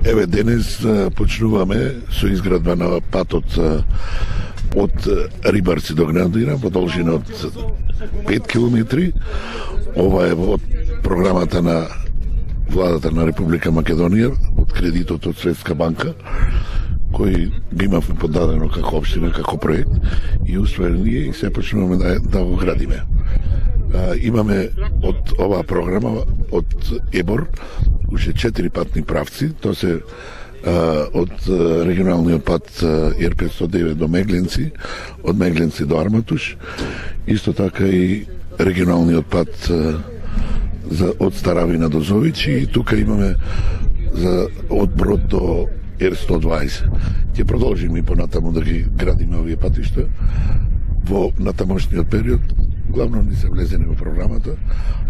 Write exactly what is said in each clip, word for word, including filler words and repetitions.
Еве, денес почнуваме со изградба на патот од Рибарци до Гнадина во должина од пет километри. Ова е од програмата на владата на Република Македонија, од кредитот од Светска банка, кој би имавме подадено како општина, како проект, и успеали ние и се почнуваме да, да го градиме. А, имаме од оваа програма, од ЕБОР, уште четири патни правци, тоа се а, од регионалниот пат Ер петстотин и девет до Мегленци, од Мегленци до Арматуш, исто така и регионалниот пат а, за, од Старавина до Зович, и тука имаме за, од Брод до Ер сто дваесет. Ќе продолжиме и понатаму да ги градиме овие патишта во натамошниот период. Главно не се влезени во програмата,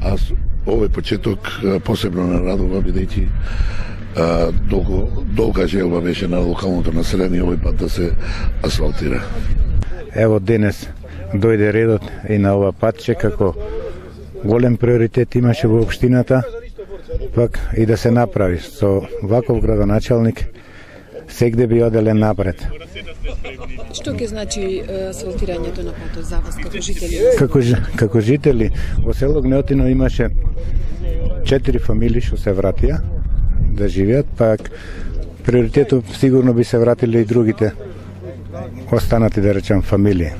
а овој почеток посебно нарадува, бидејќи долго, долга желба беше на локалното население овој пат да се асфалтира. Ево денес дојде редот и на ова патче, како голем приоритет имаше во општината, пак и да се направи. Со ваков градоначалник сегде би оделе напред. Што ќе значи асфалтирањето на патот за вас како жители? Како, како жители во село Гнеотино имаше четири фамилии што се вратија да живеат, пак приоритетот сигурно би се вратиле и другите останати, да речем, фамилии.